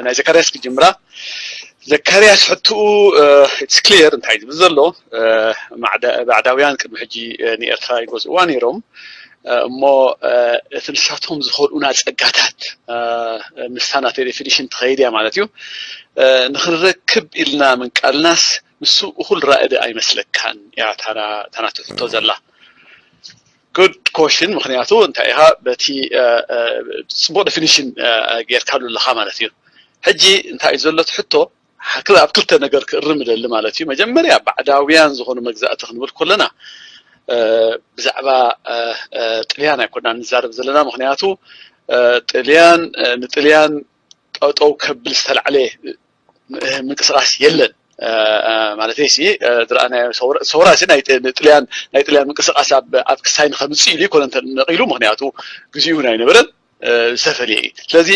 ናይ ዘካርያስ ክጅምራ። ዘካርያስ ሕትኡ፣ it's clear እንታይ ዝብል ዘሎ። ባዕዳውያን ቅድሚ ሕጂ ንኤርትራ ይገዝእዋ ነይሮም፣ እሞ እቲ ንሳቶም ዝኸልኡና ጸጋታት፣ ምስታ ናተይ ዴፊኒሽን ትኸይድ እያ ማለት እዩ። ንክንረክብ ኢልና ምንቃልናስ ንሱ እኹል ራእዲ ኣይመስለካን እያ ታና ትሕቶ ዘላ። ጉድ ኮሽን። ምክንያቱ እንታይ ኢኻ በቲ ጽቡቕ ዴፊኒሽን ጌርካሉ ኣለኻ ማለት እዩ። ሕጂ እንታይ እዩ ዘሎ እቲ ሕቶ? ኣብ ክልተ ነገር ክእርም እደሊ ማለት እዩ። መጀመርያ ባዕዳውያን ዝኾኑ መግዛእቲ ክንብል ከለና ብዛዕባ ጥልያን ኣይኮና ንዛረብ ዘለና። ምክንያቱ ጥልያን ንጥልያን ጠጠው ከብል ዝተላዕለ ምንቅስቃስ የለን ማለት ሲ ዝረኣናዮ ሰውራ ሲ ጥልያን ናይ ጥልያን ምንቅስቃስ ኣብ ክሳይ ንከምፅእ ኢሉ ይኮነ ነቂሉ። ምክንያቱ ግዚኡ እውን ኣይነበረን፣ ዝተፈለየ እዩ። ስለዚ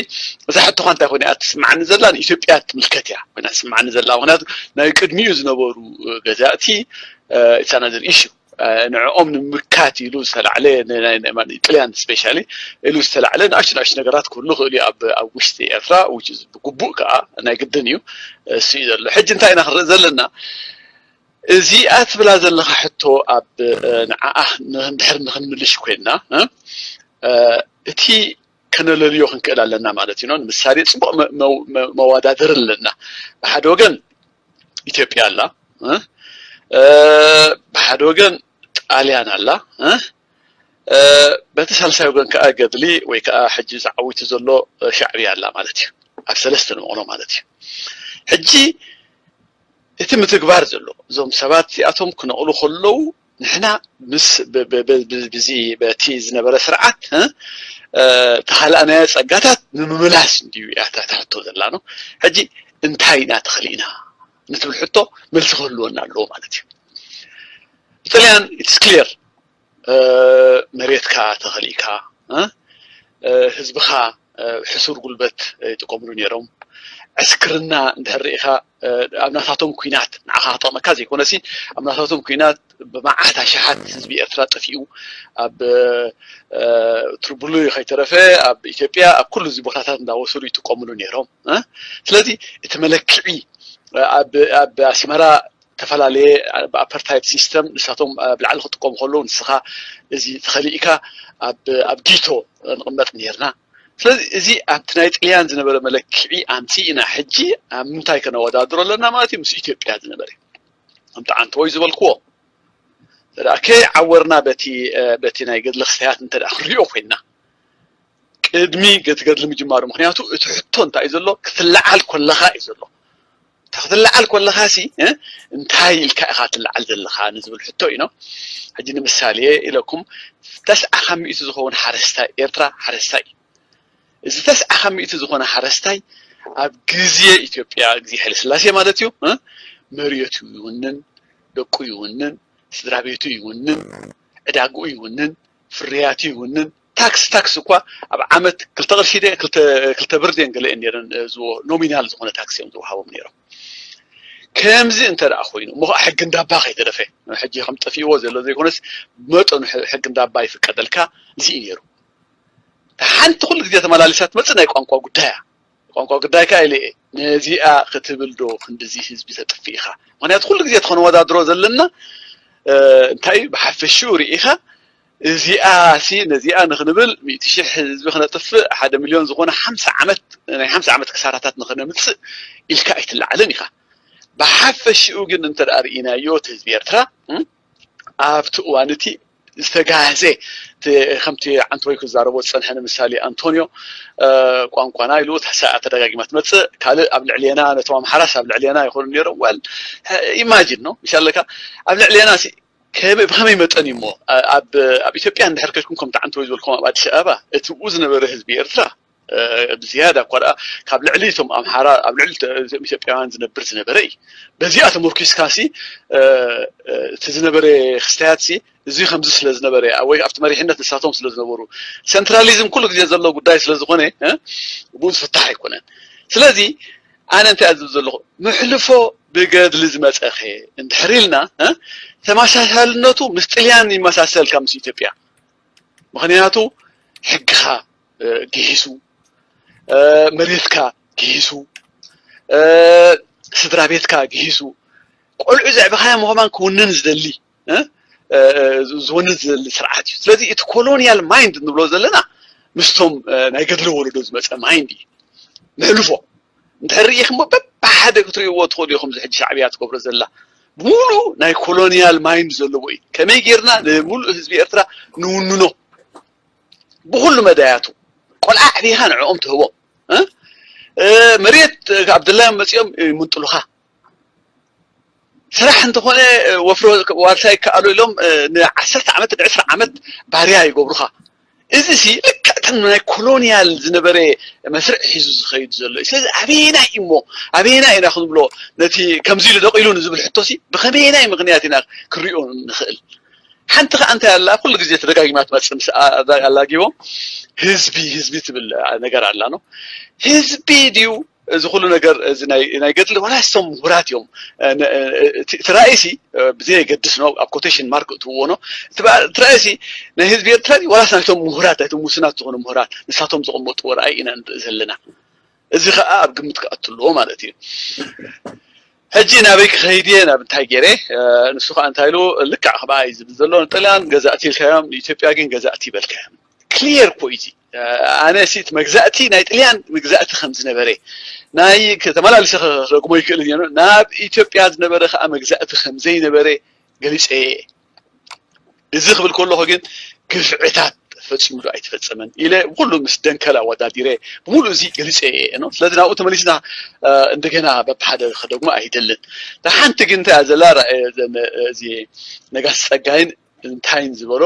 እዛ ሕቶኻ እንታይ ኮይና እያ ትስምዓኒ ዘላ? ንኢትዮጵያ ትምልከት እያ ኮይና ትስምዓኒ ዘላ። ምክንያቱ ናይ ቅድሚኡ ዝነበሩ ገዛእቲ it's another issue። ንዕኦም ንምካት ኢሉ ዝተላዕለ ጥልያን ስፔሻሊ ኢሉ ዝተላዕለ ንኣሽቱ ንኣሽቱ ነገራት ክህሉ ክእሉ ኣብ ውሽጢ ኤርትራ ብግቡእ ከዓ ናይ ግድን እዩ። እሱ እዩ ዘሎ። ሕጂ እንታይ ኢና ክንርኢ ዘለና? እዚኣ ትብላ ዘለካ ሕቶ ኣብ ንዓኣ ንድሕር ንክንምልሽ ኮይንና እቲ ከነለልዮ ክንክእል ኣለና ማለት እዩ። ንምሳሌ ፅቡቅ መወዳደር ኣለና። ብሓደ ወገን ኢትዮጵያ ኣላ፣ ብሓደ ወገን ጣልያን ኣላ፣ በቲ ሳልሳይ ወገን ከዓ ገድሊ ወይ ከዓ ሕጂ ዝዓዊቱ ዘሎ ሻዕብያ ኣላ ማለት እዩ። ኣብ ሰለስተ ንመቕሎ ማለት እዩ። ሕጂ እቲ ምትግባር ዘሎ እዞም ሰባት እዚኣቶም ክነቕሉ ከለዉ ንሕና ምስ ብዚ በቲ ዝነበረ ስርዓት ተኻልኣናዮ ጸጋታት ንምምላስ እንድዩ እያ እታ ሕቶ ዘላ ነው። ሕጂ እንታይ ኢና ተኽሊእና ንትብል ሕቶ መልሲ ክህልወና ኣለዎ ማለት እዩ። ብጥልያን it's clear። መሬትካ ተኸሊእካ ህዝብኻ ሕሱር ጉልበት ይጥቀምሉ ነይሮም። ዕስክርና እንድሕር ርኢኻ ኣብ ናታቶም ኩናት ንዓኻ ክጠቕመካ ዘይኮነሲ ኣብ ናታቶም ኩናት ብመዓት ኣሽሓት ህዝቢ ኤርትራ ጠፊኡ ኣብ ትርብሉ ከይተረፈ ኣብ ኢትዮጵያ ኣብ ኩሉ እዚ ቦታታት እንዳወሰዱ ይጥቀምሉ ነይሮም። ስለዚ እቲ መለክዒ ኣብ ኣስመራ ዝተፈላለየ ብኣፓርታይድ ሲስተም ንሳቶም ኣብ ላዕሊ ክጥቀሙ ከለዉ ንስኻ እዚ ተኸሊእካ ኣብ ጊቶ ንቕመጥ ነርና። ስለዚ እዚ ኣብቲ ናይ ጥልያን ዝነበረ መለክዒ ኣምፂእና ሕጂ ኣብ ምንታይ ከነወዳድሮ ኣለና ማለት እዩ? ምስ ኢትዮጵያ ዝነበረ ከምቲ ዓንተወይ ዝበልክዎ እንተ ከይዓወርና በቲ ናይ ገድሊ ክስተያት እንተ ክንሪኦ ኮይንና ቅድሚ ገቲ ገድሊ ምጅማሩ። ምክንያቱ እቲ ሕቶ እንታይ እዩ ዘሎ? ክትለዓል ኮለኻ እዩ ዘሎ። ክትለዓል ኮለኻ ሲ እንታይ ኢልካ ኢኻ ትለዓል ዘለኻ ንዝብል ሕቶ እዩ። ሕጂ ንምሳሌ ኢለኩም ተስዓ ካብ ሚእቲ ዝኸውን ሓረስታይ ኤርትራ ሓረስታይ እዩ። እዚ ተስዓ ካብ ሚእቲ ዝኾነ ሓረስታይ ኣብ ግዜ ኢትዮጵያ ግዜ ሓይለ ስላሴ ማለት እዩ መሬቱ ይውንን፣ ደቁ ይውንን፣ ስድራ ቤቱ ይውንን፣ ዕዳግኡ ይውንን፣ ፍርያቱ ይውንን። ታክስ ታክስ እኳ ኣብ ዓመት ክልተ ቅርሺ ደ ክልተ ብር ደን ገለ እየን ነይረን ዝዎ ኖሚናል ዝኾነ ታክስ እዮም ዝወሃቦም ነይሮም። ከምዚ እንተ ደኣ ኮይኑ እሞ ከዓ ሕጊ እንዳባ ከይተረፈ ሕጂ ከም ጠፊእዎ ዘሎ ዘይኮነስ መጠኑ ሕጊ እንዳባ ይፍቀደልካ እዚ እዩ ነይሩ። ሓንቲ ኩሉ ግዜ ተመላሊሳ ትመፅእ ናይ ቋንቋ ጉዳያ ቋንቋ ጉዳይ ከዓ ኢለ ነዚኣ ክትብል ዶ ክንድዚ ህዝቢ ተጥፍእ ኢኻ? ምክንያቱ ኩሉ ግዜ ተኸነወዳድሮ ዘለና እንታይ ብሓፈሽኡ ርኢኻ እዚኣ ሲ ነዚኣ ንክንብል ሚእቲ ሽሕ ህዝቢ ክነጥፍእ ሓደ ሚልዮን ዝኾነ ሓምሳ ዓመት ናይ ሓምሳ ዓመት ክሳራታት ንክነምፅእ ኢልካ ኣይትለዓልን ኢኻ። ብሓፈሽኡ ግን እንተ ደኣ ርኢናዮ እቲ ህዝቢ ኤርትራ ኣብቲ እዋን እቲ ዝተጋህሰ ከምቲ ዓንተወይ ክዛረቦ ዝፀንሐ ንምሳሌ ኣንቶኒዮ ቋንቋና ኢሉ ተደጋጊማ ትመፅእ ካልእ ኣብ ልዕሌና ነቶም ኣምሓራስ ኣብ ልዕሌና ይኮኑ ነይሮም ወል ኢማጂን ነው ምሻለካ ኣብ ልዕሌና ብከመይ መጠን እዩ እሞ ኣብ ኢትዮጵያ እንድሕር ከድኩም ከምቲ ዓንተወይ ዝበልኩም ኣብ ኣዲስ ኣበባ እቲ ብኡ ዝነበረ ህዝቢ ኤርትራ ብዝያዳ እኳ ደኣ ካብ ልዕሊ እቶም ኣምሓራ ኣብ ልዕሊ እቶም ኢትዮጵያውያን ዝነብር ዝነበረ እዩ። በዚኣ ተመርኪስካ ሲ እቲ ዝነበረ ክስተያት ሲ እዚ ከምዚ ስለ ዝነበረ ወይ ኣብቲ መሪሕነት ንሳቶም ስለ ዝነበሩ ሴንትራሊዝም ኩሉ ግዜ ዘሎ ጉዳይ ስለ ዝኾነ ብኡ ዝፍታሕ ኣይኮነን። ስለዚ ኣነ እንታይ ዝብል ዘለኹ ምሕልፎ ብገድሊ ዝመፀኸ እንድሕር ኢልና ተመሳሳልነቱ ምስ ጥልያን ይመሳሰል ካብ ምስ ኢትዮጵያ ምክንያቱ ሕግኻ ጊሂሱ መሬትካ ግሂሱ፣ ስድራ ቤትካ ግሂሱ፣ ቆልዑ ዘዕበኻዮም ከማን ክውንን ዝደሊ ዝወንን ዝደሊ ስርዓት እዩ። ስለዚ እቲ ኮሎኒያል ማይንድ እንብሎ ዘለና ምስቶም ናይ ገድሊ ወለዶ ዝመፀ ማይንድ እዩ። ንሕልፎ እንድሕር ርኢኹም በብሓደ ክትርእይዎ ትኽእሉ ኢኹም። እዚ ሕጂ ሻዕብያ ትገብሮ ዘላ ብሙሉ ናይ ኮሎኒያል ማይንድ ዘለዎ እዩ። ከመይ ጌርና ንሙሉእ ህዝቢ ኤርትራ ንውንኖ ብኩሉ መዳያቱ። ቆልዓ ኣዕቢኻ ንዕኦም ትህቦም፣ መሬት ኣብ ድላዮም መፂኦም ይምንጥሉኻ። ስራሕ እንተኾነ ወፍሮ ዋርሳይ ይከኣሉ ኢሎም ንዓሰርተ ዓመት ንዕስራ ዓመት ባርያ ይገብሩኻ። እዚ ሲ ልክዕ እተን ናይ ኮሎኒያል ዝነበረ መስርዕ ሒዙ ዝኸይድ ዘሎ እዩ። ስለዚ ኣበየናይ እሞ ኣበየናይ ኢና ክንብሎ ነቲ ከምዚ ኢሉ ደቂሉ ንዝብል ሕቶ ሲ ብኸመየናይ ምኽንያት ኢና ክንሪኦ ንኽእል? ሓንቲ ከኣ እንታይ ኣላ ኩሉ ግዜ ተደጋጊማ ትመጽእ ምስ ኣላጊቦም ህዝቢ ህዝቢ ትብል ነገር ኣላ ነው። ህዝቢ ድዩ እዚ ኩሉ ነገር እዚ ናይ ገድሊ ዋላ ስቶም ምሁራት እዮም። እቲ ራእይሲ ብዘየገድስ ነው ኣብ ኮቴሽን ማርክ እትውዎ ነው። እቲ ራእይሲ ናይ ህዝቢ ኤርትራ ዋላስ ናይቶም ምሁራት ናይቶም ውሱናት ዝኾኑ ምሁራት ንሳቶም ዘቐመጥዎ ራእይ ኢና ንርኢ ዘለና። እዚ ከዓ ኣብ ግምት ክኣቱ ኣለዎ ማለት እዩ። ሕጂ ናበይ ክኸይድ እየ ናብ እንታይ ገይረ? ንሱ ከዓ እንታይ ኢሉ ልክዕ ከማይ ዝብል ዘሎ ንጥልያን ገዛእቲ ኢልካዮም ንኢትዮጵያ ግን ገዛእቲ ይበልካዮም። ክሊየር እኮ እዩ። ኣነ ሲ እቲ መግዛእቲ ናይ ጥልያን መግዛእቲ ከም ዝነበረ ናይ ተመላሊሰ ክረግሞ ይክእል እየ። ናብ ኢትዮጵያ ዝነበረ ከዓ መግዛእቲ ከም ዘይነበረ ገሊፀ እየ። እዚ ክብል ከለኹ ግን ግፍዕታት ፈፂሙ ዶ ኣይተፈፀመን ኢለ ብኩሉ ምስ ደንከል ኣወዳዲረ ብምሉእ እዚ ገሊፀ እየ ነው። ስለዚ ናብኡ ተመሊስና እንደገና በብሓደ ክደግሞ ኣይደልን። ሓንቲ ግን እንታይ እያ ዘላ እዚ ነጋሲ ፀጋይን እንታይን ዝበሎ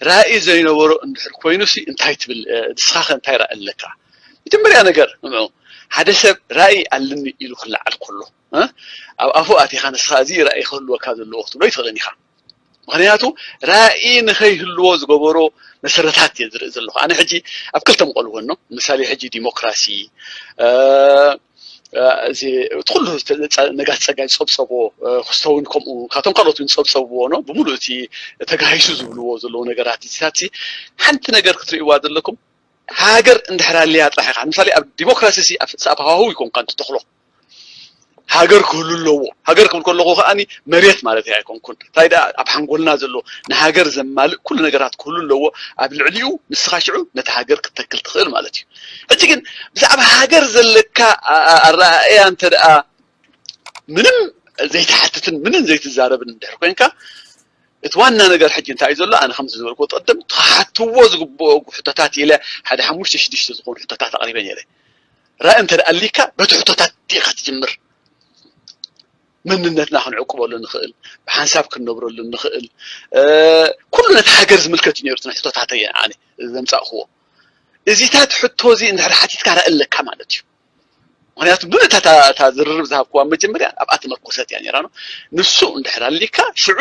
ራእይ ዘይነበሮ እንድሕር ኮይኑ ሲ እንታይ ትብል? ንስኻ ከ እንታይ ራእይ ኣለካ? መጀመርያ ነገር ንምዑ ሓደ ሰብ ራእይ ኣለኒ ኢሉ ክለዓል ከሎ ኣብ ኣፉ ኣቲኻ ንስኻ እዚ ራእይ ክህልወካ ዘለዎ ክትብሎ ይትኽእልን ኢኻ። ምኽንያቱ ራእይ ንኸይህልዎ ዝገበሮ መሰረታት እየ ዝርኢ ዘለኹ። ኣነ ሕጂ ኣብ ክልተ ምቐልዎ ነው። ምሳሌ ሕጂ ዲሞክራሲ እዚ ኩሉ ነጋሲ ጸጋይ ዝጸብጸቦ ክስተውን ከምኡ ካብቶም ካልኦት እውን ዝጸብጸብዎ ነው። ብምሉእ እቲ ተጋሂሱ ዝብልዎ ዘለዉ ነገራት እዚታት ሓንቲ ነገር ክትርእይዋ ዘለኩም ሃገር እንድሕር ኣልያ ጥራሕ ኢኻ። ንምሳሌ ኣብ ዲሞክራሲ ሰኣብ ሃዋህው ይኮንካ እንትተኽሎ ሃገር ክህሉ ኣለዎ። ሃገር ክብል ከለኹ ከኣ መሬት ማለት ኣይኮንኩን። እንታይ ደኣ ኣብ ሓንጎልና ዘሎ ንሃገር ዘማልእ ኩሉ ነገራት ክህሉ ኣለዎ። ኣብ ልዕሊኡ ንስኻ ሽዑ ነቲ ሃገር ክትተክል ትኽእል ማለት እዩ። ሕጂ ግን ብዛዕባ ሃገር ዘለካ ኣረኣእያ እንተ ደኣ ምንም ዘይትሓትትን ምንም ዘይትዛረብን እንድሕር ኮንካ እቲ ዋና ነገር ሕጂ እንታይ እዩ ዘሎ? ኣነ ከምዚ ዝበልኩ ቅድም ክሓትዎ ዝግብኦ ሕቶታት ኢለ ሓደ ሓሙሽተ ሽዱሽተ ዝኾኑ ሕቶታት ኣቕሪበ ነይረ። ራእይ እንተ ኣሊካ በቲ ሕቶታት ኢኻ ትጅምር። መንነትና ክንዕቅበሉ ንኽእል፣ ብሓንሳብ ክንነብረሉ ንኽእል፣ ኩሉ ነቲ ሃገር ዝምልከት እዩ ነይሩ። እተን ሕቶታተይ ኣነ ዘምጻእክዎ እዚታት ሕቶ እዚ እንድሕር ሓቲትካ ራእይ ኣለካ ማለት እዩ። ምክንያቱ ብእታ እታ ዝርርብ ዝሃብክዋ መጀመርያ ኣብኣ ተመርኮሰት እያ ነራ ነው። ንሱ እንድሕር ኣሊካ ሽዑ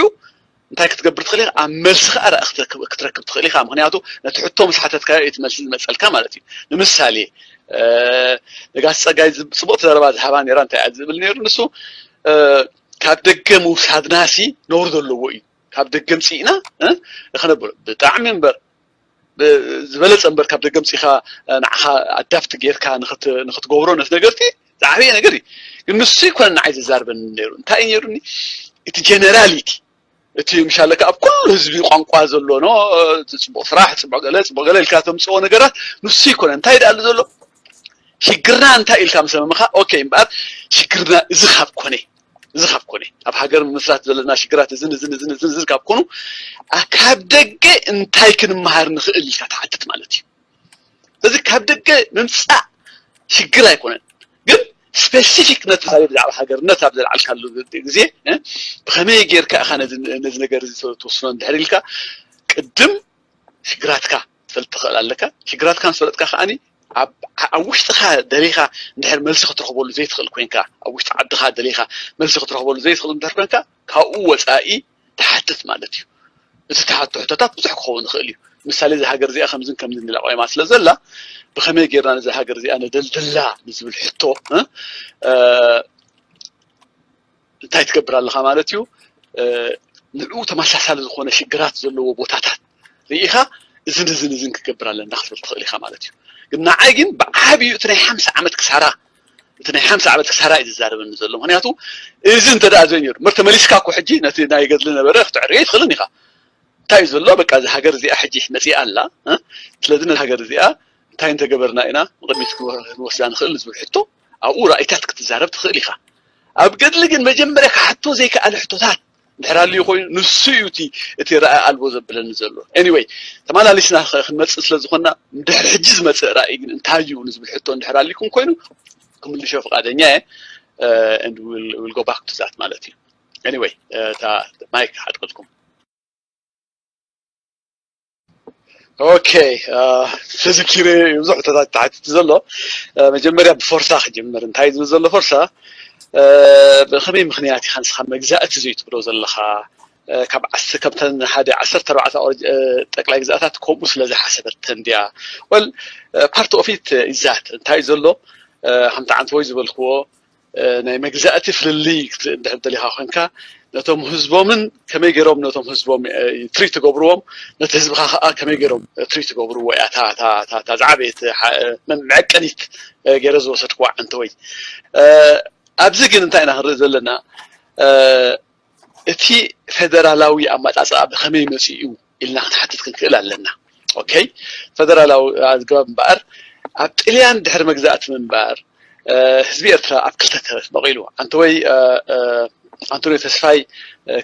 እንታይ ክትገብር ትኽእል ኢኻ? ኣብ መልሲ ከዓ ራእይ ክትረክብ ክትረክብ ትኽእል ኢኻ። ምክንያቱ ነቲ ሕቶ ምስ ሓተትካዮ እቲ መልሲ ዝመፀልካ ማለት እዩ። ንምሳሌ ነጋሲ ፀጋይ ጽቡቕቲ ዘረባ ዝሃባ ነራ እንታይ እያ ዝብል ነይሩ ንሱ ካብ ደገ ምውሳድናሲ ነውሪ ዘለዎ እዩ። ካብ ደገ ምፅእና ክነብር ብጣዕሚ እምበር ዝበለፀ እምበር ካብ ደገ ምፅኢኻ ንዓኻ ኣዳፕት ጌርካ ንክትገብሮ ነቲ ነገርቲ ዝዓበየ ነገር እዩ። ግን ንሱ ይኮነ ንዓይ ዘዛርበኒ ነይሩ እንታይ እዩ ነይሩኒ እቲ ጀነራሊቲ እቲ ምሻለካ ኣብ ኩሉ ህዝቢ ቋንቋ ዘሎ ኖ ጽቡቅ ስራሕ ጽቡቅ ገለ ጽቡቅ ገለ ኢልካ ተምፅኦ ነገራት ንሱ ይኮነ እንታይ ደኣሉ ዘሎ ሽግርና እንታይ ኢልካ ምስ ሃመምኻ ኦኬ እምበኣር ሽግርና እዚ ካብ ኮነ እዚ ካብ ኮነ ኣብ ሃገር ምምስራት ዘለና ሽግራት እዝን እዝን እዝን እዝን እዝን ካብ ኮኑ ካብ ደገ እንታይ ክንመሃር ንኽእል ኢልካ ትሓትት ማለት እዩ። እዚ ካብ ደገ ምምፃእ ሽግር ኣይኮነን ግን ስፔሲፊክ ነቲ ብዛዕባ ሃገርነት ኣብ ዘልዓልካሉ ግዜ ብኸመይ ጌርካ ኢኻ ነዚ ነገር እዚ ትወስኖ እንድሕር ኢልካ ቅድም ሽግራትካ ትፈልጥ ትኽእል ኣለካ። ሽግራትካ ምስ ፈለጥካ ከዓኒ ኣብ ውሽጥኻ ደሊኻ እንድሕር መልሲ ክትረኽበሉ ዘይትኽእል ኮይንካ ኣብ ውሽጢ ዓድኻ ደሊኻ መልሲ ክትረኽበሉ ዘይትኽእል እንድሕር ኮይንካ ካብኡ ወፃኢ ትሓትት ማለት እዩ። እቲ ትሓቶ ሕቶታት ብዙሕ ክኸውን ይኽእል እዩ። ምሳሌ እዛ ሃገር እዚኣ ከምዝን ከምዝን ኢላ ቆይማ ስለ ዘላ ብኸመይ ጌርና ነዛ ሃገር እዚኣ ነደልድላ ንዝብል ሕቶ እንታይ ትገብር ኣለኻ ማለት እዩ። ንዕኡ ተመሳሳሊ ዝኾነ ሽግራት ዘለዎ ቦታታት ርኢኻ እዝን እዝን እዝን ክገብር ኣለና ክትብል ትኽእል ኢኻ ማለት እዩ። ግን ንዓይ ግን ብዓብዩ እቲ ናይ ሓምሳ ዓመት ክሳራ እቲ ናይ ሓምሳ ዓመት ክሳራ እዩ ዝዛረበኒ ዘሎ። ምክንያቱ እዚ እንተ ደኣ ዘይነይሩ፣ ምር ተመሊስካ እኮ ሕጂ ነቲ ናይ ገድሊ ነበረ ክትዕርዮ ይትኽእልን ኢኻ። እንታይ እዩ ዘሎ? በቃ፣ እዛ ሃገር እዚኣ ሕጂ መጺኣ ኣላ፣ እ? ስለዚ ነዚ ሃገር እዚኣ እንታይ እንተገበርና ኢና ንቕድሚት ክንወ-፣ ክንወስዳ ንኽእል ንዝብል ሕቶ፣ ኣብኡ ራእይታት ክትዛረብ ትኽእል ኢኻ። ኣብ ገድሊ ግን መጀመርያ ክሓቶ ዘይከኣለ ሕቶታት እንድሕር ኣልዩ ኮይኑ፣ ንሱ እዩ እቲ፣ እቲ ራእይ ኣልቦ ዘብለኒ ዘሎ። ኤኒወይ፣ ተመላሊስና ኸ-፣ ክንመጽእ ስለ ዝኾንና፣ እንድሕር ሕጂ ዝመጽእ ራእይ ግን እንታይ እዩ ንዝብል ሕቶ እንድሕር ኣልይኩም ኮይኑ፣ ክምልሾ ፍቓደኛ እየ። Uh, and we'll, we'll go back to that ማለት እዩ። ኤኒወይ፣ እታ ማይክ ሓጥቅልኩም። ኦኬ፣ ተዘኪረ ብዙሕ ሕቶታት ተሓቲቱ ዘሎ። መጀመርያ ብፎርሳ ክጅምር። እንታይ ዝብል ዘሎ ፎርሳ? ብኸመይ ምኽንያት ኢኻ ንስኻ መግዛእቲ ዘይትብሎ ዘለኻ? ካብ ዓስ-፣ ካብተን ሓደ ዓሰርተ ኣርባዕተ ጠቅላይ ግዛእታት ከምኡ ስለ ዝሓሰበተን ድያ? ወል፣ ፓርት ኦፍ ኢት ኢዛት እንታይ ዘሎ? ከምቲ ዓንተ ወይ ዝበልክዎ፣ ናይ መግዛእቲ ፍልልይ ክትርኢ እንድሕር ደሊኻ ኮንካ፣ ነቶም ህዝቦምን ከመይ ገይሮም ነቶም ህዝቦም ትሪት ትገብርዎም፣ ነቲ ህዝብኻ ከዓ ከመይ ገይሮም ትሪት ትገብርዎ እያ እታ፣ እታ፣ እታ፣ እታ ዝዓበየት መ-፣ መዐቀኒት ገይረ ዝወሰድክዋ ዓንተ ወይ። ኣብዚ ግን እንታይ ኢና ክንርኢ ዘለና? እቲ ፌደራላዊ ኣመጻጽኣ ብኸመይ መጺኡ ኢልና ክንሓትት ክንክእል ኣለና። ኦኬ፣ ፌደራላዊ ኣገባብ እምበኣር፣ ኣብ ጥልያን ድሕሪ መግዛእቲ ምንባር፣ ህዝቢ ኤርትራ ኣብ ክልተ ተመቒሉ። ኣንተወይ ኣንቶንዮ ተስፋይ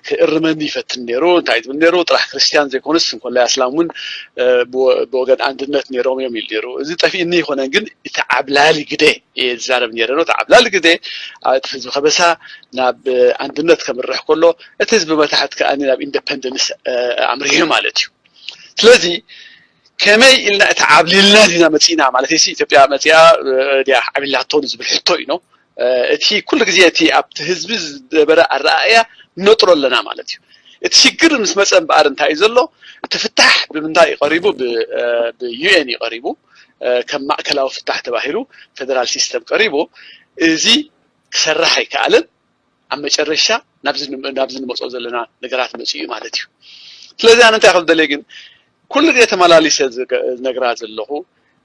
ክእርመኒ ይፈትን ነይሩ። እንታይ ትብል ነይሩ? ጥራሕ ክርስትያን ዘይኮነስ እንኮላይ ኣስላም እውን ብወገን ኣንድነት ነይሮም እዮም ኢሉ ነይሩ። እዚ ጠፊእኒ ይኮነን፣ ግን እቲ ዓብላሊ ግደ እየ ዝዛረብ ነይረ። እቲ ዓብላሊ ግደ እቲ ህዝቢ ከበሳ ናብ ኣንድነት ከምርሕ ከሎ፣ እቲ ህዝቢ መታሕት ከኣ ናብ ኢንደፐንደንስ ኣምሪሑ ማለት እዩ። ስለዚ ከመይ ኢልና እቲ ዓብሊልና ዲና መፂና ማለት እዩ። ኢትዮጵያ መፂኣ ድያ ዓብሊላቶ ዝብል ሕቶ እዩ ነው። እቲ ኩሉ ግዜ እቲ ኣብቲ ህዝቢ ዝነበረ ኣረኣእያ ነጥሮ ኣለና ማለት እዩ። እቲ ሽግር ምስ መፀ እምበኣር እንታይ እዩ ዘሎ? እቲ ፍታሕ ብምንታይ እዩ ቀሪቡ? ብዩኤን እዩ ቀሪቡ። ከም ማእከላዊ ፍታሕ ተባሂሉ ፌደራል ሲስተም ቀሪቡ። እዚ ክሰርሕ ኣይከኣልን። ኣብ መጨረሻ ናብዚ ን-፣ ናብዚ ንመፅኦ ዘለና ነገራት መፅኡ እዩ ማለት እዩ። ስለዚ ኣነ እንታይ ክብል ደልየ ግን፣ ኩሉ ግዜ ተመላሊሰ ዝገ-፣ ዝነግራ ዘለኹ፣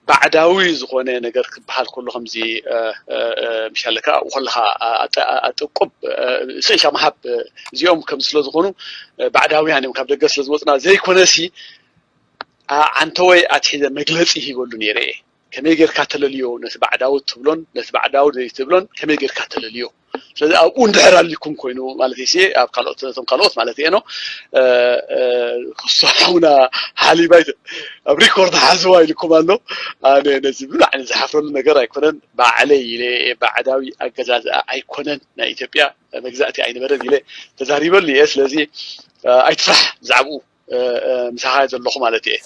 ባዕዳዊ ዝኾነ ነገር ክበሃል ከሎ ከምዚ፣ እ፣ እ፣ እ፣ ምሻለካ ኣብኡ ከለኻ ኣ-፣ ኣጠ-፣ ኣ-፣ ኣጥቁብ፣ እ፣ ስእሻ ምሃብ፣ እ፣ እዚኦም ከም ስለ ዝኾኑ፣ እ፣ ባዕዳውያን እዮም ካብ ደገ ስለ ዝወፅና ዘይኮነሲ፣ ኣ-፣ ዓንተወይ ኣትሒዘ መግለፂ ሂበሉ ነይረ እየ። ከመይ ጌርካ ተለልዮ ነቲ ባዕዳዊ ትብሎን ነቲ ባዕዳዊ ዘይትብሎን ከመይ ጌርካ ተለልዮ? ስለዚ ኣብኡ እንድሕር ኣልኩም ኮይኑ ማለት እዩ፣ ኣብ ካልኦት፣ ነቶም ካልኦት ማለት እየ ነው። እ፣ እ፣ ክሱ ሓውና ሓሊባይ ኣብ ሪኮርድ ሓዝዋ ኢልኩም ኣሎ። ኣነ ነዚ ብላዕሊ ዝሓፍረሉ ነገር ኣይኮነን። ባዕለይ ኢለ እየ፣ ባዕዳዊ ኣገዛዝኣ ኣይኮነን፣ ናይ ኢትዮጵያ መግዛእቲ ኣይነበረን ኢለ ተዛሪበሉ እየ። ስለዚ፣ እ፣ ኣይትፍራሕ ብዛዕባኡ፣ እ፣ እ፣ ምሳኻ ዘለኹ ማለት እየ።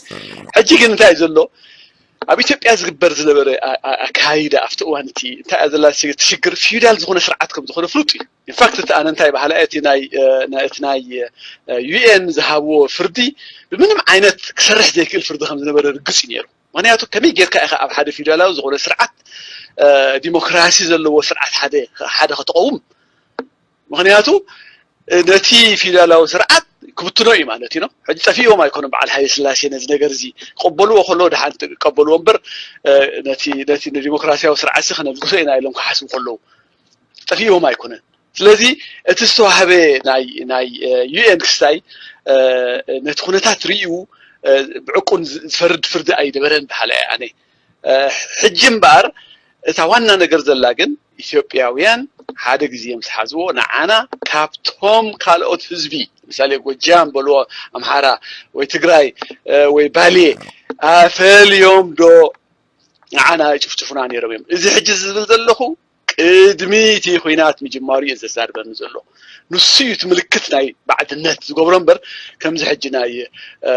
ሕጂ ግን እንታይ እዩ ዘሎ? ኣብ ኢትዮጵያ ዝግበር ዝነበረ ኣ-፣ ኣ-፣ ኣካይዳ ኣብቲ እዋን እቲ እንታይ እያ ዘላ ሲ-፣ እቲ ሽግር ፊውዳል ዝኾነ ስርዓት ከም ዝኾነ ፍሉጥ እዩ። ኢንፋክት እቲ ኣነ እንታይ በሃላ እየ፣ እቲ ናይ፣ እ፣ ናይ፣ እቲ ናይ፣ እ፣ ዩኤን ዝሃብዎ ፍርዲ ብምንም ዓይነት ክሰርሕ ዘይክእል ፍርዲ ከም ዝነበረ ርግጽ እዩ ነይሩ። ምክንያቱ ከመይ ጌርካ ኢኻ ኣብ ሓደ ፊውዳላዊ ዝኾነ ስርዓት፣ እ፣ ዲሞክራሲ ዘለዎ ስርዓት ሓደ፣ ሓደ ከተቐውም? ምክንያቱ ነቲ ፊውዳላዊ ስርዓት ክብትኖ እዩ ማለት እዩ ነው። ሕጂ ጠፊእዎም ኣይኮኑን በዓል ሃይለ ስላሴ ነዚ ነገር እዚ ክቕበልዎ ከለዉ ደሓን ክቀበልዎ እምበር፣ እ፣ ነቲ፣ ነቲ ንዲሞክራሲያዊ ስርዓት እዚ ከነብግሶ ኢና ኢሎም ክሓስቡ ከለዉ ጠፊእዎም ኣይኮነን። ስለዚ እቲ ዝተዋህበ ናይ፣ ናይ፣ እ፣ ዩኤን ክስታይ፣ እ፣ ነቲ ኩነታት ርእዩ፣ እ፣ ብዕቁን ዝ-፣ ዝፈርድ ፍርዲ ኣይነበረን በሃላ እየ ኣነ። እ፣ ሕጂ እምበኣር እታ ዋና ነገር ዘላ ግን ኢትዮጵያውያን ሓደ ግዜ ምስ ሓዝዎ ንዓና ካብቶም ካልኦት ህዝቢ፣ ምሳሌ ጎጃም በልዎ፣ ኣምሓራ ወይ ትግራይ፣ እ፣ ወይ ባሌ ኣፈልዮም ዶ ንዓና ይጭፍጭፉና ነይሮም እዮም? እዚ ሕጂ ዝብል ዘለኹ ቅድሚ እቲ ኹናት ምጅማሩ እዩ ዘዛርበኒ ዘሎ። ንሱ እዩ እቲ ምልክት ናይ ባዕድነት ዝገብሮ እምበር፣ ከምዚ ሕጂ ናይ፣ እ፣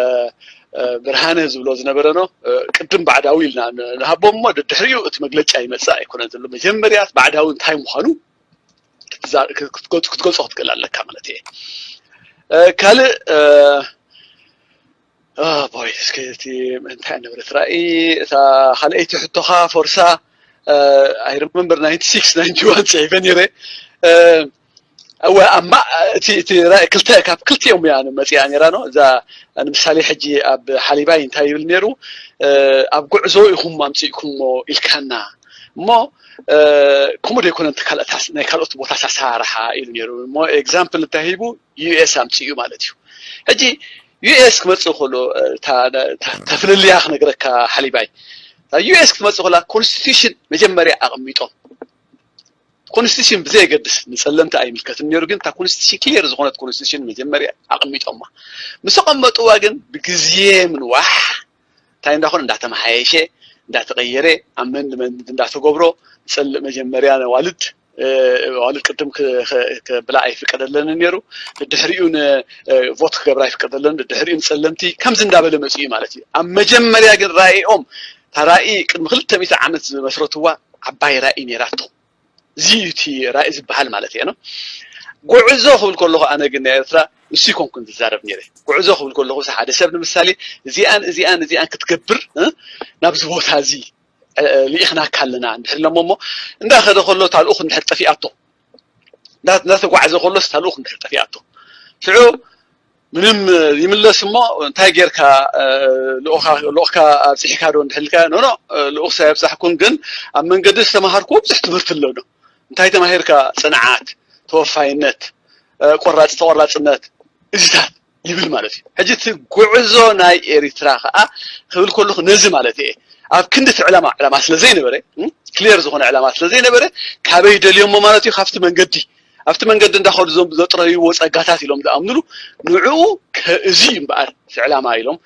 እ፣ ብርሃነ ዝብሎ ዝነበረ ነው፣ እ፣ ቅድም ባዕዳዊ ኢልና ን-፣ ንሃቦም እሞ ደድሕሪኡ እቲ መግለጫ ይመጽእ ኣይኮነን ዘሎ። መጀመርያ ባዕዳዊ እንታይ ምዃኑ ክትዛ-፣ ክት-፣ ክትገልጾ፣ ክትገልጾ ክትክእል ኣለካ ማለት እየ። እ፣ ካልእ፣ እ፣ ኦ ቦይ፣ እስኪ እቲ እንታይ ነበረት ራእይ እታ ካልኣይቲ ሕቶኻ ፎርሳ፣ እ፣ I remember ናይንቲ ሲክስ ናይንቲ ዋን ጽሒፈ ነይረ። እ፣ እወ፣ ኣብ ማ-፣ እቲ፣ እቲ ራእይ ክልተ፣ ካብ ክልቲኦም እያ መጺኣ ነይራ ነው። እዛ ንምሳሌ ሕጂ ኣብ ሓሊባይ እንታይ ይብል ነይሩ? እ፣ ኣብ ጉዕዞ ኢኹም ኣምጺእኩሞ ኢልካና፣ እሞ ከምኡ ዘይኮነ ናይ ካልኦት ቦታት ኣሰራርሓ ኢሉ ነይሩ። እሞ ኤግዛምፕል እንታይ ሂቡ? ዩ ኤስ ኣምፅኡ ማለት እዩ። ሕጂ ዩ ኤስ ክመፅእ ከሎ ተፍልልያ ክነግረካ ሓሊባይ፣ ዩ ኤስ ክትመፅእ ከላ ኮንስቲቱሽን መጀመርያ ኣቐሚጦም። ኮንስቲቱሽን ብዘየገድስ ንፀለምቲ ኣይምልከትን ነይሩ፣ ግን እታ ኮንስቲቱሽን ክሊር ዝኾነት ኮንስቲቱሽን መጀመርያ ኣቐሚጦማ። ምስ ኣቐመጥዋ ግን ብግዜ ምንዋሕ እንታይ እንዳኾነ እንዳተመሓየሸ እንዳተቐየረ ኣመንድመንት እንዳተገብሮ፣ ፀል መጀመርያ ነዋልድ ዋልድ ቅድም ክብላ ኣይፍቀደለንን ነይሩ። ድድሕሪኡ ንቮት ክገብራ ኣይፍቀደለን። ድድሕሪኡ ንፀለምቲ ከምዚ እንዳበለ መፅኡ ማለት እዩ። ኣብ መጀመርያ ግን ራእይኦም፣ እታ ራእይ ቅድሚ ክልተ ሚእቲ ዓመት ዝመስረትዋ ዓባይ ራእይ ነይራቶ። እዚ እዩ እቲ ራእይ ዝበሃል ማለት እየ ነው። ጉዕዞ ክብል ከለኹ ኣነ ግን ናይ ኤርትራ ንሱ ይኮንኩን ዝዛረብ ነይረ። ጉዕዞ ክብል ከለኹ ሓደ ሰብ ንምሳሌ እዚኣን እዚኣን እዚኣን ክትገብር ናብዚ ቦታ እዚ ልኢኽናካ ኣለና እንድሕር ኢሎሞ እሞ እንዳኸደ ከሎ እታ ልኡኽ እንድሕር ጠፊኣቶ፣ እንዳተጓዕዘ ከሎስ እታ ልኡኽ እንድሕር ጠፊኣቶ ሽዑ ምንም ይምለስ እሞ እንታይ ጌርካ ልኡኽካ ኣብፅሕካ ዶ እንድሕልካ ኖኖ ልኡኽሳ የብፃሕኩን ግን ኣብ መንገዲ ዝተምሃርኩዎ ብዙሕ ትምህርቲ ኣሎ ዶ እንታይ ተማሂርካ ፅንዓት ተወፋይነት ቆራፅ ተቆራፅነት እዚታት ይብል ማለት እዩ። ሕጂ እቲ ጉዕዞ ናይ ኤሪትራ ከዓ ክብል ከለኹ ነዚ ማለት እየ። ኣብ ክንዲ እቲ ዕላማ ዕላማ ስለ ዘይነበረ ክሊር ዝኾነ ዕላማ ስለ ዘይነበረ ካበይ ደልዮሞ ማለት እዩ ካብቲ መንገዲ ኣብቲ መንገዲ እንዳኸዱ ዞም ዘጥረይዎ ፀጋታት ኢሎም ዝኣምኑሉ ንዕኡ እዚ እዩ እምበኣር እቲ ዕላማ ኢሎም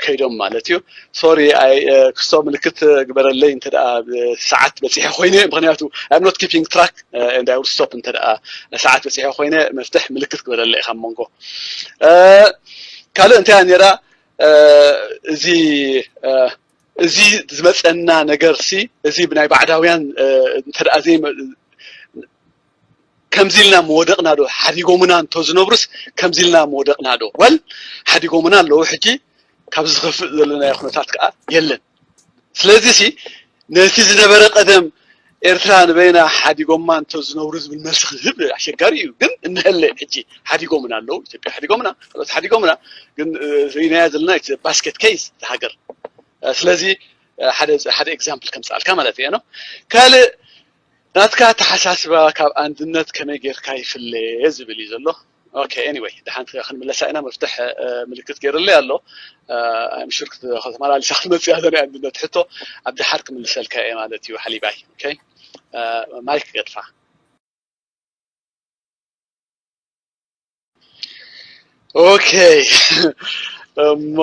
ከይዶም ማለት እዩ። ሶሪ ክስቶ ምልክት ግበረለይ እንተ ሰዓት በፂሐ ኮይነ ምክንያቱ I'm not keeping track and I will stop እንተ ሰዓት በፂሐ ኮይነ መፍትሕ ምልክት ግበረለይ ካብ መንጎ ካልእ እንታይ ነራ እዚ እዚ ዝመፀና ነገር ሲ እዚ ብናይ ባዕዳውያን እንተ ዘይ ከምዚ ኢልና መወደቕና ዶ ሓዲጎምና እንተዝነብሩስ ከምዚ ኢልና መወደቕና ዶ ወል ሓዲጎምና ኣለዉ ሕጂ ካብ ዝኸፍእ ዘለናዮ ኩነታት ከዓ የለን ስለዚ ሲ ነቲ ዝነበረ ቀደም ኤርትራ ንበይና ሓዲጎማ እንተዝነብሩ ዝብል መልሲ ክህብ ኣሸጋሪ እዩ ግን እንሀለ ሕጂ ሓዲጎምና ኣለዉ ኢትዮጵያ ሓዲጎምና ካልኦት ሓዲጎምና ግን ርኢናያ ዘለና ባስኬት ኬይስ ሃገር ስለዚ ሓደ ኤግዛምፕል ከምፅኣልካ ማለት እየ ነው ካልእ ናትካ ኣተሓሳስባ ካብ ኣንድነት ከመይ ጌርካ ይፍለ ዝብል እዩ ዘሎ okay anyway ድሓን ክንምለሳ ኢና መፍትሕ ምልክት ገይርለይ ኣሎ I'm sure ከተመላልሳ ክትመፅእ እያ ናይ ኣንድነት ሕቶ ኣብ ድሓር ክምልሰልካ እየ ማለት እዩ ሓሊባይ okay ማይክ ገድፋ okay እሞ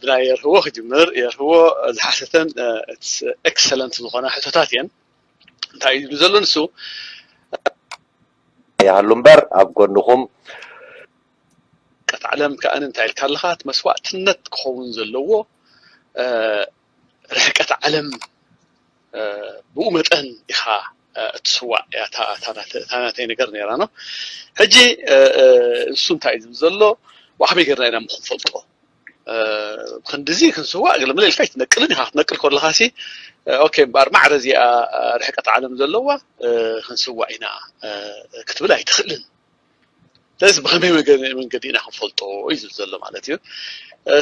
ብናይ የርህዎ ክጅምር የርህዎ ዝሓሰተን excellent ዝኾና ሕቶታት እየን እንታይ እዩ ዘሎ ንሱ ይሃሉ እምበር ኣብ ጎንኹም ቀት ዓለም ከኣ እንታይ ኢልካ ኣለኻ እቲ መስዋእትነት ክኸውን ዘለዎ ርሕቀት ዓለም ብኡ መጠን ኢኻ እትስዋእ እያ እታ ናተይ ነገር ነራ ነው ሕጂ እሱ እንታይ እዩ ዝብል ዘሎ ብኣኽመይ ገርና ኢና ምክንፈልጦ ክንድዚ ክንስዋእ ገለመለ ኢልካ ኣይትነቅልን ኢኻ ክትነቅል ከለኻ ሲ ኦኬ እምበኣር ማዕረ እዚኣ ርሕቀት ዓለም ዘለዋ ክንስዋእ ኢና ክትብል ኣይትኽእልን ስለዚ ብኸመይ መንገዲ ኢና ክንፈልጦ እዩ ዝብል ዘሎ ማለት እዩ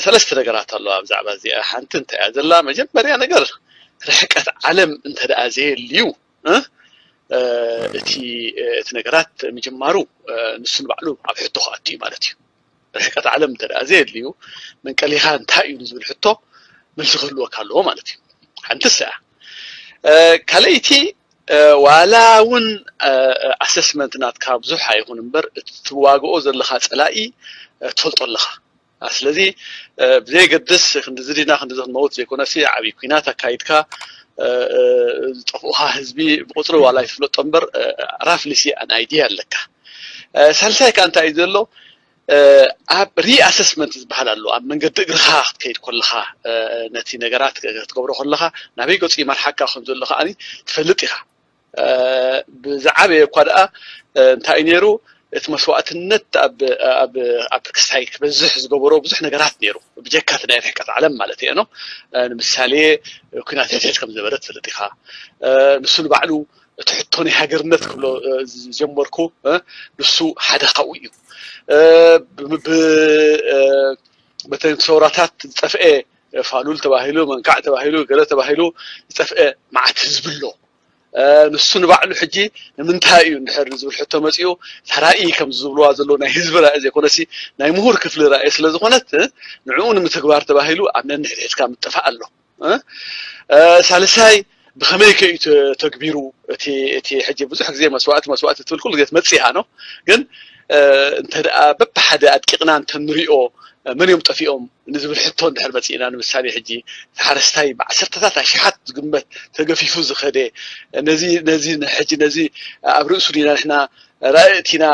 ሰለስተ ነገራት ኣለዋ ብዛዕባ እዚኣ ሓንቲ እንታይ እያ ዘላ መጀመርያ ነገር ርሕቀት ዓለም እንተ ደኣ ዘየልዩ እቲ እቲ ነገራት ምጅማሩ ንሱ ንባዕሉ ኣብ ሕቶ ክኣቱ እዩ ማለት እዩ ርሕቀት ዓለም እንተ ደኣ ዘየድልዩ መንቀሊኻ እንታይ እዩ ዝብል ሕቶ መልሲ ክህልወካ ኣለዎ ማለት እዩ ሓንቲ ሰያ ካልኣይቲ ዋላ እውን ኣሰስመንት ናትካ ብዙሕ ኣይኹን እምበር እትዋግኦ ዘለኻ ፀላኢ ትፈልጦ ኣለኻ ስለዚ ብዘየገድስ ክንዲ ዝድና ክንዲ ክንመውት ዘይኮነሲ ዓብዪ ኩናት ኣካይድካ ዝጠፍኡኻ ህዝቢ ብቁፅሪ ዋላ ይፍለጦ እምበር ራፍሊሲ ኣን ኣይዲያ ኣለካ ሳልሳይ ከዓ እንታይ እዩ ዘሎ ኣብ ሪኣሰስመንት ዝበሃል ኣሎ ኣብ መንገዲ እግርኻ ክትከይድ ከለኻ ነቲ ነገራት ክትገብሮ ከለኻ ናበይ ገፁ ይመርሓካ ከም ዘሎ ከዓ ትፈልጥ ኢኻ ብዝዓበየ እኳ ደኣ እንታይ እዩ ነይሩ እቲ መስዋእትነት ኣብ ክስታይ ክበዝሕ ዝገበሮ ብዙሕ ነገራት ነይሩ ብጀካ እቲ ናይ ርሕቀት ዓለም ማለት እየ ነው ንምሳሌ ኩናት ሕትሕት ከም ዝነበረ ትፈልጥ ኢኻ ንሱ ንባዕሉ እቲ ሕቶ ናይ ሃገርነት ክብሎ ዝጀመርኩ ንሱ ሓደ ካብኡ እዩ በተን ሰውራታት ዝጠፍአ ፋሉል ተባሂሉ፣ መንካዕ ተባሂሉ፣ ገለ ተባሂሉ ዝጠፍአ መዓት ህዝቢ ኣሎ። ንሱ ንባዕሉ ሕጂ ንምንታይ እዩ እንድሕር ዝብል ሕቶ መፂኡ፣ ተራኢ ከም ዝብልዋ ዘለዉ ናይ ህዝቢ ራእይ ዘይኮነሲ ናይ ምሁር ክፍሊ ራእይ ስለ ዝኾነት ንዕኡ ንምትግባር ተባሂሉ ኣብ ነንሕድሕድካ ምጥፋእ ኣሎ። ሳልሳይ ብኸመይ ከ እዩ ተግቢሩ? እቲ ሕጂ ብዙሕ ግዜ መስዋእቲ መስዋእቲ ትብል ኩሉ ግዜ ትመፅእ እያ ነው። ግን እንተ ደኣ በብሓደ ኣድቂቕና እንተንሪኦ መን እዮም ጠፊኦም ንዝብል ሕቶ እንድሕር መፂእና፣ ንምሳሌ ሕጂ እቲ ሓረስታይ ብዓሰርተታት ኣሽሓት ዝግመት ተገፊፉ ዝኸደ ነዚ ነዚ ሕጂ ነዚ ኣብ ርእሱ ዲና ንሕና ራእቲና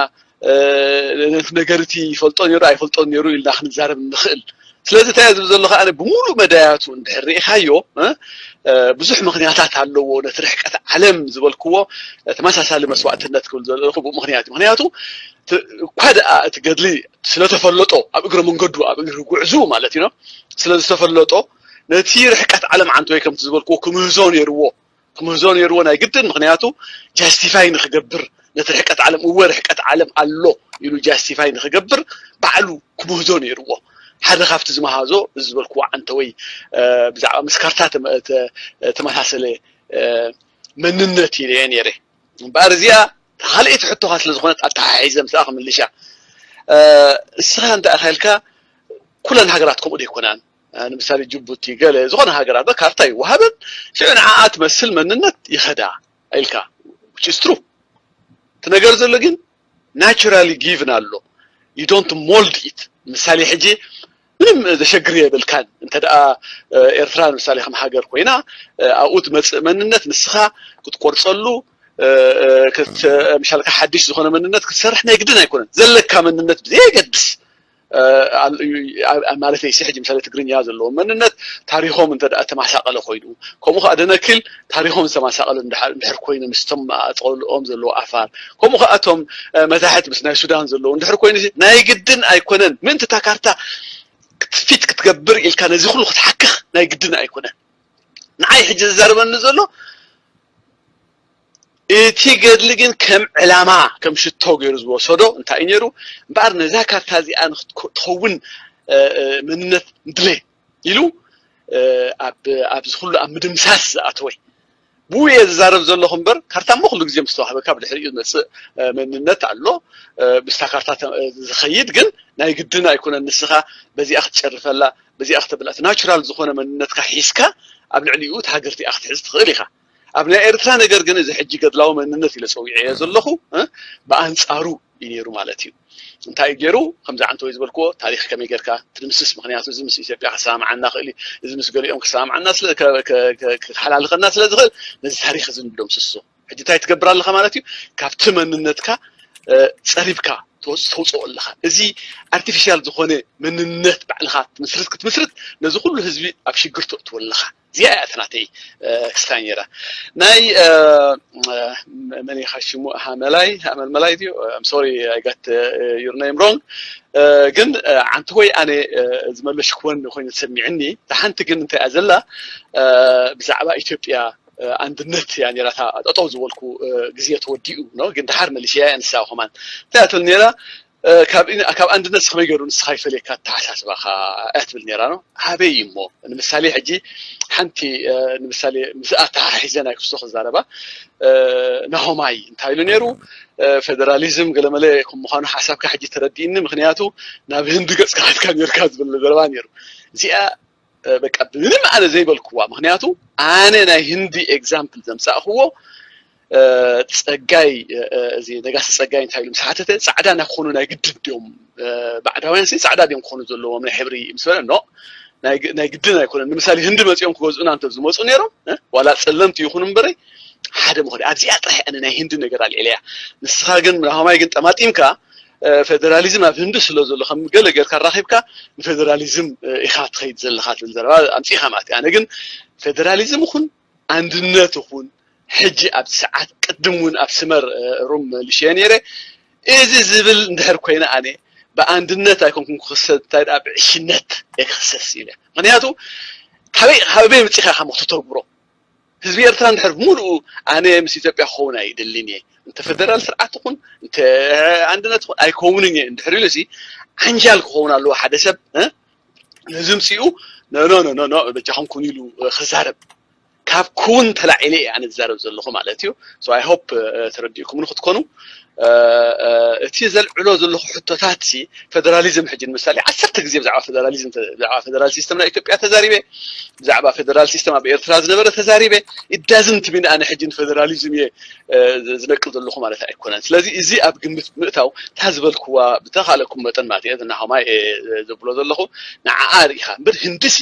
ነቲ ነገር እቲ ይፈልጦ ነይሩ ኣይፈልጦን ነይሩ ኢልና ክንዛረብ ንኽእል። ስለዚ እንታይ ዝብል ዘለኹ ኣነ ብሙሉእ መዳያቱ እንድሕር ርኢኻዮ ብዙሕ ምኽንያታት ኣለዎ። ነቲ ርሕቀት ዓለም ዝበልክዎ ተመሳሳሊ መስዋእትነት ክብል ዘለኹ ብኡ ምኽንያት እዩ። ምኽንያቱ እኳ ደኣ እቲ ገድሊ ስለተፈለጦ ኣብ እግረ መንገዱ ኣብ እግሪ ጉዕዙ ማለት እዩ ስለዝተፈለጦ ነቲ ርሕቀት ዓለም ዓንተወይ ከምቲ ዝበልክዎ ክምህዞ ነይርዎ ክምህዞ ነይርዎ ናይ ግድን። ምኽንያቱ ጃስቲፋይ ንክገብር ነቲ ርሕቀት ዓለም እወ ርሕቀት ዓለም ኣሎ ኢሉ ጃስቲፋይ ንክገብር ባዕሉ ክምህዞ ነይርዎ። ሓደ ካብቲ ዝመሃዞ እዚ ዝበልክዎ ዓንተወይ ብዛዕባ ምስ ካርታ ተመሳሰለ መንነት ኢለየ ነይረ። እምበኣር እዚኣ ካልኣይቲ ሕቶኻ ስለ ዝኾነት ኣተሓሒዘ ምስኣ ክምልሻ። እስኻ እንታይ ኢኻ ኢልካ ኩለን ሃገራት ከምኡ ዶ ይኮናን? ንምሳሌ ጅቡቲ ገለ ዝኾነ ሃገራት ካርታ ይወሃበን ሽዑ ንዓኣ ትመስል መንነት ይኸዳ ኢልካ which is true። እቲ ነገር ዘሎ ግን ናቹራሊ ጊቭን ኣሎ። You don't mold it። ምሳሌ ሕጂ ምንም ዘሸግር የብልካን። እንተ ደኣ ኤርትራ ንምሳሌ ከም ሃገር ኮይና ኣብኡ ትመጽእ መንነት ንስኻ ክትቆርጸሉ ምሻልካ ሓድሽ ዝኾነ መንነት ክትሰርሕ ናይ ግድን ኣይኮነን። ዘለካ መንነት ብዘየገድስ ማለት ሲ ሕጂ ምሳሌ ትግርኛ ዘለዎ መንነት ታሪኾም እንተ ደኣ ተማሳቀለ ኮይኑ ከምኡ ከዓ ደነኪል ታሪኾም ዝተማሳቀለ እንድሕር ኮይኑ ምስቶም ኣፀልኦም ዘለዎ ኣፋር ከምኡ ከዓ እቶም መታሕት ምስ ናይ ሱዳን ዘለዉ እንድሕር ኮይኑ ናይ ግድን ኣይኮነን። ምእንቲ እታ ካርታ ክትፊት ክትገብር ኢልካ ነዚ ኩሉ ክትሓክኽ ናይ ግድን ኣይኮነን። ንዓይ ሕጂ ዝዛረበኒ ዘሎ እቲ ገድሊ ግን ከም ዕላማ ከም ሽቶ ገይሩ ዝወሰዶ እንታይ እዩ ነይሩ እምበኣር ነዛ ካርታ እዚኣ ንክትኸውን መንነት ንድለ ኢሉ ኣብዚ ኩሉ ኣብ ምድምሳስ ዝኣተወ ብኡ እየ ዝዛረብ ዘለኹ እምበር ካርታ እሞ ኩሉ ግዜ ምስ ተዋህበካ ብድሕሪኡ ዝመፅእ መንነት ኣሎ ምስታ ካርታ ዝኸይድ ግን ናይ ግድን ኣይኮነን ንስኻ በዚኣ ክትጨርፈላ በዚኣ ክተብላ ናቹራል ዝኾነ መንነትካ ሒዝካ ኣብ ልዕሊኡ እቲ ሃገር እቲኣ ክትሕዝ ትኽእል ኢኻ ኣብ ናይ ኤርትራ ነገር ግን እዚ ሕጂ ገድላዊ መንነት ኢለ ፀዊዐዮ ዘለኹ ብኣንፃሩ እዩ ነይሩ ማለት እዩ እንታይ ገይሩ ከምዚ ዓንተወይ ዝበልክዎ ታሪኽ ከመይ ጌርካ ትድምስስ ምክንያቱ እዚ ምስ ኢትዮጵያ ክሰማማዓና ክእል እዚ ምስ ገሊኦም ክሰማማዓና ክሓላልኸና ስለ ዝኽእል ነዚ ታሪኽ እዚ ንደምስሶ ሕጂ እንታይ ትገብር ኣለኻ ማለት እዩ ካብቲ መንነትካ ፀሪብካ ተውፅኦ ኣለኻ እዚ ኣርቲፊሻል ዝኾነ መንነት ባዕልኻ ትምስርት ክትምስርት ነዚ ኩሉ ህዝቢ ኣብ ሽግር ተእትዎ ኣለኻ እዚኣ እያ ናተይ ክስታይ ነራ ናይ መን ኢኻ ሽሙ ሃመላይ ሃመልመላይ ድዩ ሶሪ ኣይ ጋት ዩር ኔም ሮንግ ግን ዓንቲ ወይ ኣነ ዝመለሽክወን ኮይኑ ተሰሚዕኒ ሓንቲ ግን እንታይ እያ ዘላ ብዛዕባ ኢትዮጵያ ኣንድነት እያ ነራታ ጠጠው ዝበልኩ ግዜ ተወዲኡ ግን ድሓር መሊሸያ እያ ንሳ ከማን እንታይ ትብል ነራ ካብ ኣንድነት ከመይ ገይሩ ንስኻ ይፈልየካ ኣተሓሳስባኻ እያ ትብል ነራ ነው ሃበይ እሞ ንምሳሌ ሕጂ ሓንቲ ንምሳሌ ምስ ኣተሓሒዘ ናይ ክስቶ ክዛረባ ናሆማይ እንታይ ኢሉ ነይሩ ፌደራሊዝም ገለመለ ከም ምዃኑ ሓሳብካ ሕጂ ተረዲእኒ ምክንያቱ ናብ ህንዲ ገፅካ ከድካ ነርካ ዝብል ዘረባ ነይሩ እዚኣ በቃ ምንም ኣነ ዘይበልክዋ ምክንያቱ ኣነ ናይ ህንዲ ኤግዛምፕል ዘምፃእክዎ ፀጋይ እዚ ነጋሲ ፀጋይ እንታይ ኢሉ ምስ ሓተተ ፃዕዳ ናክኾኑ ናይ ግድን ድዮም ባዕዳውያን ሲ ፃዕዳ ድዮም ክኾኑ ዘለዎም ናይ ሕብሪ ምስ በለ ኖ ናይ ግድን ኣይኮነን ንምሳሌ ህንዲ መፂኦም ክገዝኡና እንተ ዝመፁ ነይሮም ዋላ ፀለምቲ ይኹኑ እምበረይ ሓደ ምኾነ ኣብዚኣ ጥራሕ ኣነ ናይ ህንዲ ነገር ኣልዒለያ ንስኻ ግን ናሆማይ ግን ጠማጢምካ ፌደራሊዝም ኣብ ህንዲ ስለ ዘሎ ከም ገለ ጌርካ ራኺብካ ንፌደራሊዝም ኢኻ ትኸይድ ዘለኻ ትብል ዘረባ ኣምፂኻ ማለት ኣነ ግን ፌደራሊዝም ይኹን ኣንድነት ይኹን ሕጂ ኣብ ሰዓት ቅድም እውን ኣብ ስመር ሩም ልሽየ ነይረ እዚ ዝብል እንድሕር ኮይነ ኣነ ብኣንድነት ኣይኮንኩም ክክሰስ እንታይ ደኣ ብዕሽነት እየ ክክሰስ ኢለ ምክንያቱ ካበይ ካበይ ምፂኻ ኢኻ ክትተግብሮ ህዝቢ ኤርትራ እንድሕር ብምሉኡ ኣነ ምስ ኢትዮጵያ ክኸውን ኣይደልን እየ እንተ ፈደራል ስርዓት ይኹን እንተ ኣንድነት ይኹን ኣይከውንን እየ እንድሕር ኢሉ ሲ ዓንጃል ክኸውን ኣለዎ ሓደ ሰብ ነዚ ምፅኡ ኖ ኖ ኖ ኖ በጃኹም ኩኑ ኢሉ ክዛረብ ካብ ክውን ተላዒለ እየ ኣነ ዝዛረብ ዘለኹ ማለት እዩ። So I hope ተረዲእኩም ንክትኮኑ እቲ ዘልዕሎ ዘለኹ ሕቶታት ሲ ፌደራሊዝም ሕጂ ንምሳሌ ዓሰርተ ግዜ ብዛዕባ ፌደራሊዝም ብዛዕባ ፌደራል ሲስተም ናይ ኢትዮጵያ ተዛሪበ፣ ብዛዕባ ፌደራል ሲስተም ኣብ ኤርትራ ዝነበረ ተዛሪበ። It doesn't mean ኣነ ሕጂ ንፌደራሊዝም እየ ዝነቅፍ ዘለኹ ማለት ኣይኮነን። ስለዚ እዚ ኣብ ግምት ምእታው እታ ዝበልክዋ ብተኻለኩም መጠን ማለት እየ ዝናኸማይ ዘብሎ ዘለኹ ንዓኣ ርኢኻ እምበር ህንድሲ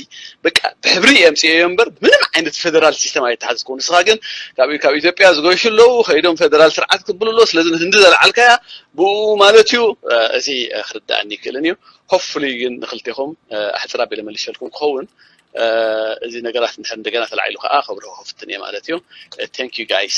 በቃ ብሕብሪ እየ ኣምፅኤዮ እምበር ምንም ዓይነት ፌደራል ሲስተም ኣይተሓዝኩ። ንስኻ ግን ካብ ካብ ኢትዮጵያ ዝገሹ ኣለዉ ከይዶም ፌደራል ስርዓት ክብሉ ኣለዉ። ስለዚ ንህንዲ ዘለዓልካያ ብኡ ማለት እዩ። እዚ ክርዳእኒ ይክእልን እዩ። Hopefully ግን ንክልቴኹም ኣሕፅር ኣቢለ መሊሸልኩም ክኸውን እዚ ነገራት እንድሕር እንደገና ተላዒሉ ከዓ ከብርሆ ክፍትን እየ ማለት እዩ። Thank you guys።